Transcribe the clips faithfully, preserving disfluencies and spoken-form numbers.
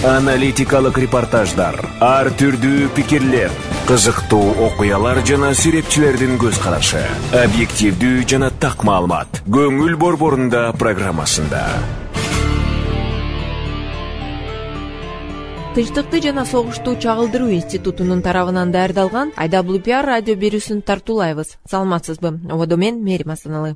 Аналитикалык репортаждар, ар түрдүү пикирлер, кызыктуу окуялар жана сүрөтчүлөрдүн көз карашы, объективдүү жана так маалымат. Көңүл борборунда программасында. Тынчтыкты жана согушту чагылдыруу институтунун тарабынан даярдалган ай дабл ю пи ар радио берүүсүн тартуулайбыз. Саламатсызбы? Ободо мен Мерим Асаналы.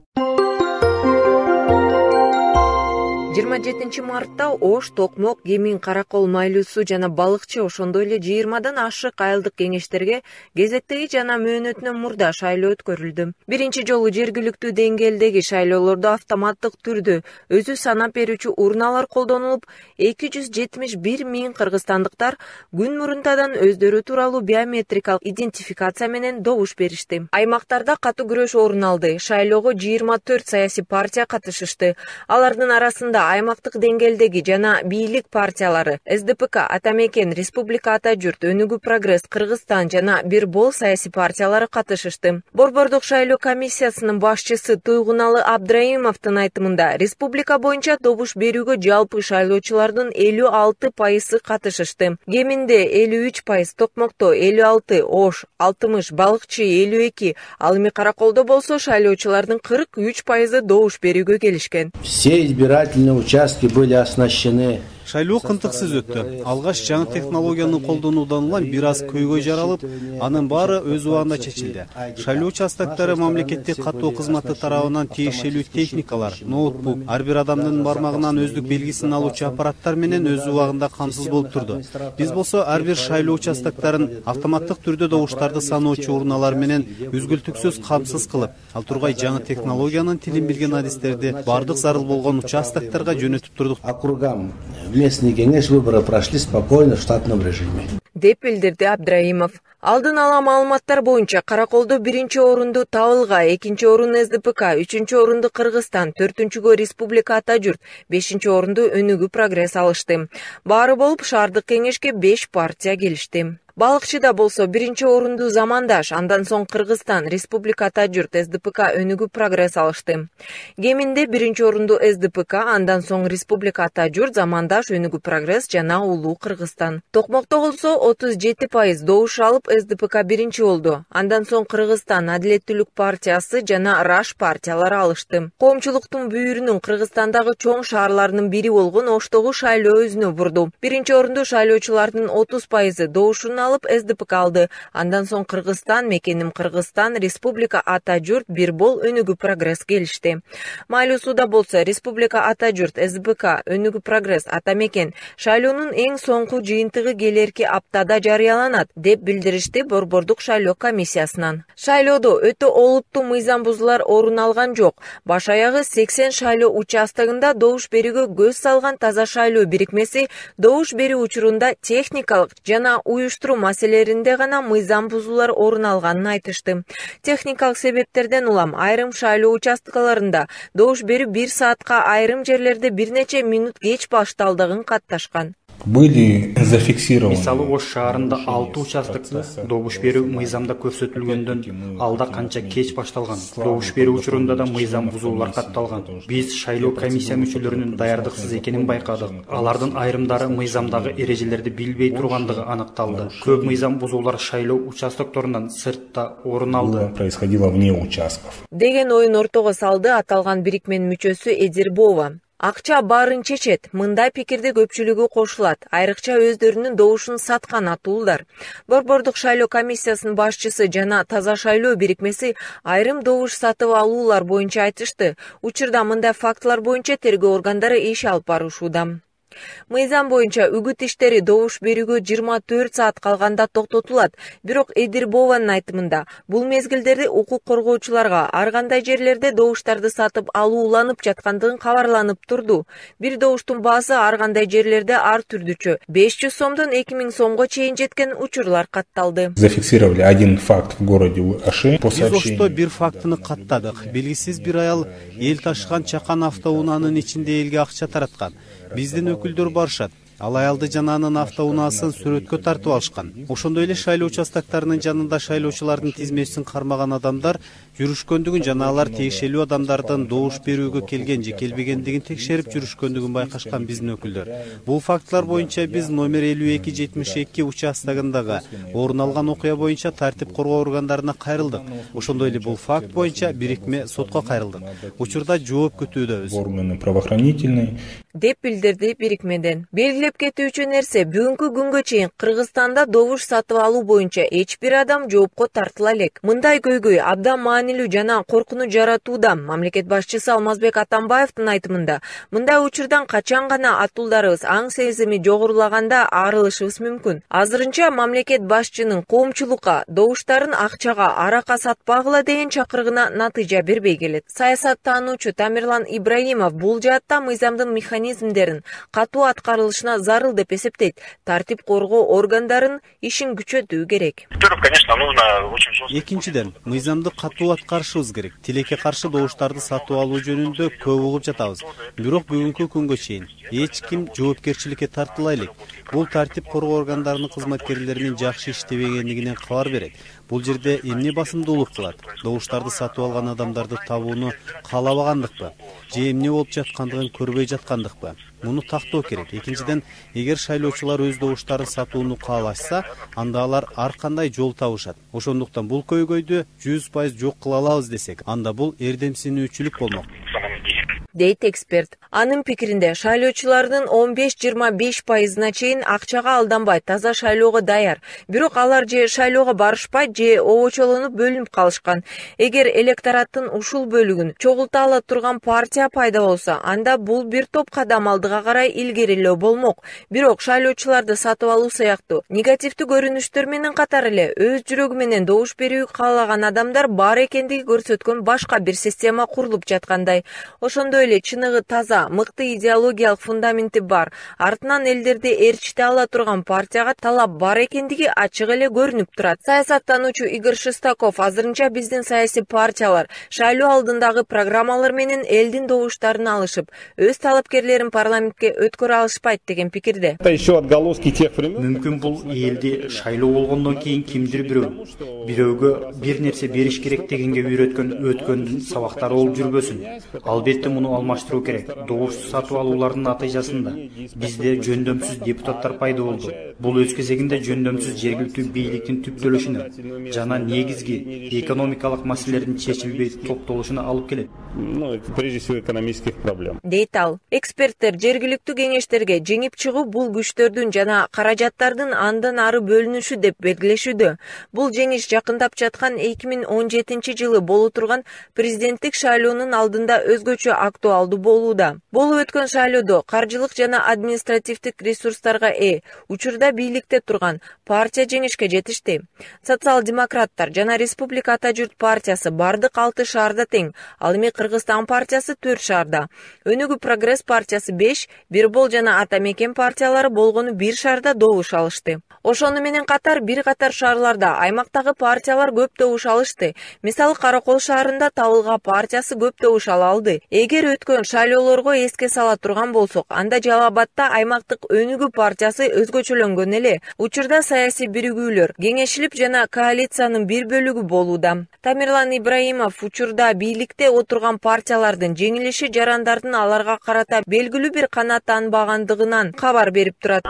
жыйырма жетинчи мартта Ош, Токмок, Кемин, Каракол, Майлуу суу жана Балыкчы, ошондой эле жыйырмадан ашык айылдык кеңештерге кезектеги жана мөөнөтүнөн мурда шайлоо өткөрүлдү. Биринчи жолу жергиликтүү деңгээлдеги шайлоолордо автоматтык түрдө өзү санап берүүчү урналар колдонулуп, эки жүз жетимиш бир миң кыргызстандыктар күн мурунтадан өздөрү тууралуу биометрикалык идентификация менен добуш беришти. Аймактарда катуу күрөш орун алды. Шайлоого жыйырма төрт саясий партия катышышты. Алардын арасында аймактык деңгээлдеги жана бийлик партиялары эс дэ пэ ка, Атамекен, Республика Ата Журт, Өнүгүү Прогресс, Кыргызстан жана бир бол саясий партиялары катышышты. Борбордук шайлоо комиссиясынын башчысы Туйгуналы Абдраимовдун айтымында, республика боюнча добуш берүүгө жалпы шайлоочулардын элүү алты пайызы катышышты. Кеминде элүү үч пайыз, Токмокто элүү алты, Ош алтымыш, Балыкчы элүү эки, ал эми Караколдо болсо шайлоочулардын кырк үч пайызы добуш берүүгө келишкен. Все избирательные участки были оснащены. Шайлоо кынтыксыз өттү. Алгаш жаңы технологияны колдонуудан улам бир аз көйгөй жаралып, анын баары өз убагында чечилди. Шайлоо участоктары мамлекеттик каттоо кызматы тарабынан тиешелүү техникалар, ноутбук, ар бир адамдын бармагынан өздүк белгисин алуучу аппараттар менен өз убагында камсыз болуп турду. Биз болсо ар бир шайлоо участоктарын автоматтык түрдө добуштарды саноочу урналар менен үзгүлтүксүз камсыз кылып, ал тургай жаңы технологиянын тилин билген адистерди бардык зарыл болгон участокторго жөнөтүп турдук. Округам местный кеңеш выборы прошли спокойно в штатном режиме, деп билдирди Абдраимов. Алдын ала маалыматтар боюнча Караколдо биринчи орунду Табылга, экинчи орун эс дэ пэ ка, үчүнчү орунду Кыргызстан, төртүнчүгө Республика Ата Журт, бешинчи орунду Өнүгүү Прогресс алышты. Баары болуп шаардык кеңешке беш партия келишти. Балыкчыда болсо биринчи орунду Замандаш, андан соң Кыргызстан, Республика Ата Журт, эс дэ пэ ка, Өнүгүү Прогресс алышты. Кеминде биринчи орунду эс дэ пэ ка, андан соң Республика Ата Журт, Замандаш, Өнүгүү Прогресс жана Улуу Кыргызстан. Токмокто болсо отуз жети пайыз добуш алып эс дэ пэ ка биринчи болду. Андан соң Кыргызстан Адилеттүүлүк партиясы жана Раш партиялары алышты. Коомчулуктун бүйүрүнүн Кыргызстандагы чоң шаарларынын бири болгон Оштогу шайлоо өзүнө бурду. Биринчи орунду шайлоочулардын отуз пайызы добушун алып эс дэ пэ ка алды. Андан соң Кыргызстан, Мекеним Кыргызстан, Республика Ата Журт, бир бол Өнүгүү Прогресс келишти. Майлуу сууда болсо Республика Ата Журт, эс дэ пэ ка, Өнүгүү Прогресс, Атамекен шайлоонун эң соңку жыйынтыгы келерки аптада жарыяланат, деп билдиришти борбордук шайлоо комиссиясынан. Шайлоодо өтө олуттуу мыйзам бузуулар орун алган жок. Баш аягы сексен шайлоо участогунда добуш берүүгө көз салган Таза шайлоо бирикмеси добуш берүү учурунда техникалык жана уюштуруу маселелеринде гана мыйзам бузуулар орун алганын айтышты. Техникалык себептерден улам айрым шайлоо участкаларында добуш берүү бир саатка, айрым жерлерде бир нече минут кеч башталдыгын катташкан. Были зафиксированы. Мисалы Ош шаарында алты участокто добуш берүү мыйзамда көрсөтүлгөндөн алда канча кеч башталган. Добуш берүү учурунда да мыйзам бузуулар катталган. Биз шайлоо комиссия мүчөлөрүнүн даярдыксыз экенин байкадык. Алардын айрымдары мыйзамдагы эрежелерди билбей тургандыгы аныкталды. Көп мыйзам бузуулар шайлоо участокторунан сыртта орун алды. Происходило вне участков. Деген оюн ортого салды аталган бирикменин мүчөсү Эдирбова. Акча баарын чечет, мындай пикирде көпчүлүгү кошулат, айрыкча өздөрүнүн добушун саткан атуулдар. Борбордук шайлоо комиссиясынын башчысы жана Таза шайлоо бирикмеси айрым добуш сатып алуулар боюнча айтышты. Учурда мындай фактылар боюнча тергөө органдары иш алып барышууда. Мыйзам боюнча үгүт иштери добуш берүүгө жыйырма төрт саат калганда токтотулат. Бирок Эдирбованын айтымында бул мезгилдерде укук коргоочуларга ар кандай жерлерде добуштарды сатып алууланып жаткандыгын кабарланып турду. Бир добуштун баасы ар кандай жерлерде ар түрдүчө беш жүз сомдон эки миң сомго чейин жеткен учурлар катталды. Зафиксировали один факт в городе Оши. Биз Ошто бир фактыны каттадык. Белгисиз бир аял эл ташыган чакан автоунаанын ичинде элге акча тараткан. Биздин өкүлдөр барышат. Ал аялды жана анын автоунаасын сүрөткө тартып алышкан. Ошондой эле шайлоо участактарынын жанында шайлоочулардын тизмесин кармаган адамдар жүрүшкөндүгүн жана алар тиешелүү адамдардын добуш берүүгө келген же келбегендигин текшерип жүрүшкөндүгүн байкашкан биздин өкүлдөр. Бул фактылар боюнча биз номер элүү эки жетимиш эки участогундагы орун алган окуя боюнча тартип коргоо органдарына кайрылдык. Ошондой эле бул факт боюнча бирикме сотко кайрылдык. Учурда жооп күтүүдөбүз. Органы правоохранительные деп билдирди бирикмеден. Белгилеп кетүүчү нерсе, бүгүнкү күнгө чейин Кыргызстанда добуш сатып алуу боюнча эч бир адам жоопко тартыла элек. Мындай көйгөй абдан маанилүү жана коркунуч жаратууда. Мамлекет башчысы Алмазбек Атамбаевдин айтымында, мындай учурдан качан гана атуулдарыбыз аң сезими жогорулаганда арылышыбыз мүмкүн. Азырынча мамлекет башчынын коомчулукка добуштарын акчага, арака сатпагыла деген чакырыгына натыйжа бербей келет. Саясаттануучу Тамерлан Ибраимов бул жаатта мыйзамдын механизмдерин катуу аткарылышына зарыл деп эсептейт. Тартип коргоо органдарынын ишин күчөтүү керек. Экинчиден, мыйзамды катуу аткарышыбыз керек. Тилекке каршы добуштарды сатып алуу жөнүндө көп угуп жатабыз. Бирок бүгүнкү күнгө чейин эч ким жоопкерчиликке тартыла элек. Бул тартип коргоо органдарынын кызматкерлеринин жакшы иштебегендигинен кабар берет. Бул жерде эмне басымдуулук кылат? Добуштарды сатып алган адамдарды табууну каалабагандыкпы? Же эмне болуп жаткандыгын көрбөй жаткандыкпы? Муну тактоо керек. Экинчиден, эгер шайлоочулар өз добуштарын сатууну каалашса, анда алар ар кандай жол табышат. Ошондуктан бул көйгөйдү жүз пайыз жок кыла алабыз десек, анда бул эрдемсинүүчүлүк болмок, дейт эксперт. Анын пикиринде, шайлоочулардын он беш жыйырма беш пайызына чейин акчага алданбай таза шайлоого даяр. Бирок алар же шайлоого барышпай, же обочолонуп бөлүнүп калышкан. Эгер электораттын ушул бөлүгүн чогулта ала турган партия пайда болсо, анда бул бир топ кадам алдыга карай илгерилөө болмок. Бирок шайлоочуларды сатып алуу сыяктуу негативдүү көрүнүштөр менен катар эле өз жүрөгү менен добуш берүүгө каалаган адамдар бар экендиги көрсөткөн башка бир система курулуп жаткандай. Ошондой эле чыныгы таза, мыкты идеологиялык фундаменти бар, артынан элдерди ээрчите ала турган партияга талап бар экендиги ачык эле көрүнүп турат. Саясаттануучу Игорь Шестаков азырынча биздин саясий партиялар шайлоо алдындагы программалар менен элдин добуштарын алышып, өз талапкерлерин парламентке өткөрө алышпайт деген пикирде. Мүмкүн бул элди шайлоо болгондон кийин кимдир бирөө бирөөгө бир нерсе бериш керек дегенге үйрөткөн өткөндүн сабактары болуп жүрбөсүн. Албетте муну алмаштыруу керек. Добуш сатып алуулардын натыйжасында бизде жөндөмсүз депутаттар пайда болду. Бул өз кезегинде жөндөмсүз жергиликтүү бийликтин түптөлүшүнө жана негизги экономикалык маселелердин чечилбей токтолушуна алып келет. Прежде всего экономических проблем. Дейт ал. Эксперттер жергиликтүү кеңештерге жеңип чыгуу бул күчтөрдүн жана каражаттардын андан ары бөлүнүшү деп белгилешүүдө. Бул жеңиш жакындап жаткан эки миң он жетинчи жылы боло турган президенттик шайлоонун алдында өзгөчө актуалдуу болууда. Болуп өткөн шайлоодо каржылык жана административдик ресурстарга ээ, учурда бийликте турган партия жеңишке жетишти. Социал-демократтар жана Республика Ата журт партиясы бардык алты шаарда тең, ал эми Кыргызстан партиясы төрт шаарда. Өнүгүү прогресс партиясы беш, Бирбол жана Ата мекен партиялары болгону бир шаарда добуш алышты. Ошону менен катар бир катар шаарларда аймактагы партиялар көп добуш алышты. Мисалы Каракол шаарында Табылга партиясы көп добуш ала алды. Эгер өткөн шайлоолорго эске сала турган болсок, анда Жалал Абадта аймактык Өнүгүү партиясы өзгөчөлөнгөн эле. Учурда саясий биригүүлөр кеңешилип жана коалициянын бир бөлүгү болууда. Тамерлан Ибраимов учурда бийликте отурган партиялардын жеңилиши жарандардын аларга карата белгилүү бир канааттанбагандыгынан кабар берип турат.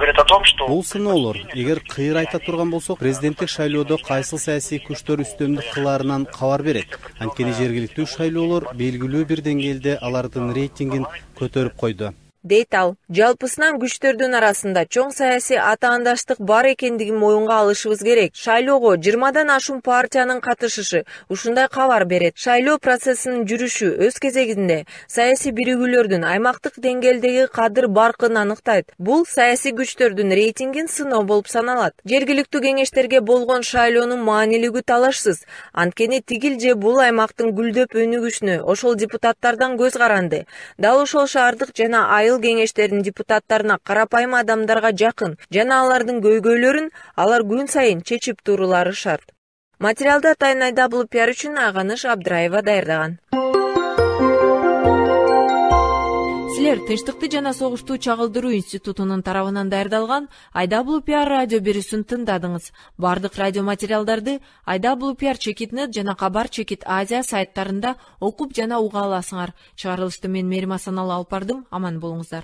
Бул сыноолор, эгер кыйыр айта турган болсок, президенттик шайлоодо кайсыл саясий күчтөр үстөмдүк кылаарынан кабар берет. Анткени жергиликтүү шайлоолор белгилүү бир деңгээлде алардын рейтингин көтөрүп койду. Дейт ал. Жалпысынан күчтөрдүн арасында чоң саясий атаандаштык бар экендигин моюнга алышыбыз керек. Шайлоого жыйырмадан ашуун партиянын катышышы ушундай кабар берет. Шайлоо процессинин жүрүшү өз кезегинде саясий биригүүлөрдүн аймактык деңгээлдеги кадыр баркын аныктайт. Бул саясий күчтөрдүн рейтингин сыноо болуп саналат. Жергиликтүү кеңештерге болгон шайлоонун маанилиги талашсыз. Анткени тигил же бул аймактын гүлдөп өнүгүшүнө ошол депутаттардан көз каранды. Дал ошол шаардык жана айыл кеңештердин депутаттарына карапайым адамдарга жакын жана алардын көйгөйлөрүн алар күн сайын чечип турулары шарт. Материалды Атайын Айдабылов пиар үчүн Аганыш Абдыраева даярдаган. Силер Тынчтыкты жана согушту чагылдыруу институтунун тарабынан даярдалган ай дабл ю пи ар радио берүүсүн тыңдадыңыз. Бардык радио материалдарды ай дабл ю пи ар чекит нет жана Кабар Чекит Азия сайттарында окуп жана уга аласыңар. Чыгарылышты мен Мерим Асаналы алып бардым. Аман болуңуздар.